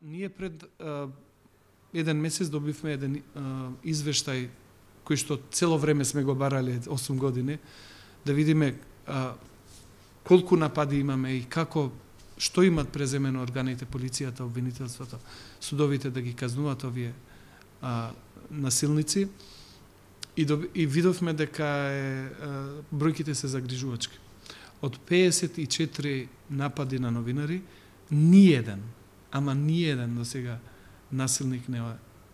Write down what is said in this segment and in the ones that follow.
Ние пред еден месец добивме еден извештај кој што цело време сме го барале 8 години, да видиме колку напади имаме и како, што имат преземено органите, полицијата, обвинителството, судовите да ги казнуваат овие насилници. И видовме дека бројките се загрижувачки. Од 54 напади на новинари, ниеден до сега насилник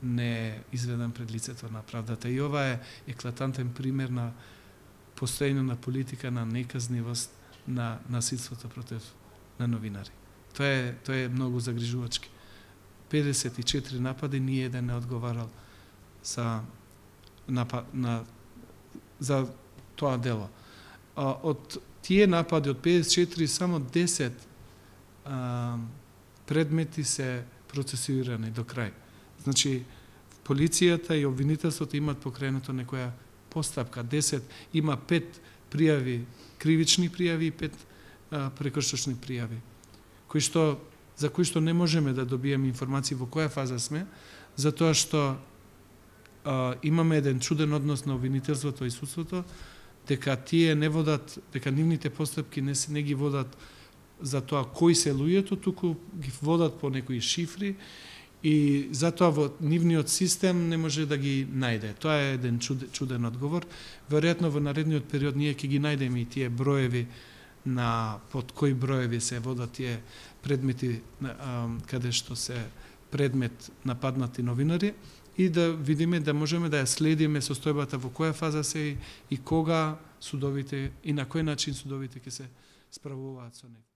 не е изведен пред лицето на правдата. И ова е еклатантен пример на постоење на политика на неказнивост на насилството против на новинари. Тоа е многу загрижувачки. 54 напади, ниеден не одговарал за тоа дело. Од тие напади, од 54, само 10 предмети се процесуирани до крај. Значи, полицијата и обвинителството имат покренато некоја постапка. 10, има 5 пријави, кривични пријави и 5 прекршочни пријави, за кои што не можеме да добиеме информации во која фаза сме, затоа што имаме еден чуден однос на обвинителството и судството, дека тие не водат, дека нивните постапки не ги водат за тоа кои се луѓето, туку ги водат по некои шифри и затоа во нивниот систем не може да ги најде. Тоа е еден чуден одговор. Веројатно во наредниот период ние ќе ги најдеме и тие броеви под кои броеви се водат тие предмети каде што се предмет нападнати новинари и да видиме, да можеме да ја следиме состојбата во која фаза се и кога судовите и на кој начин судовите ќе се справуваат со него.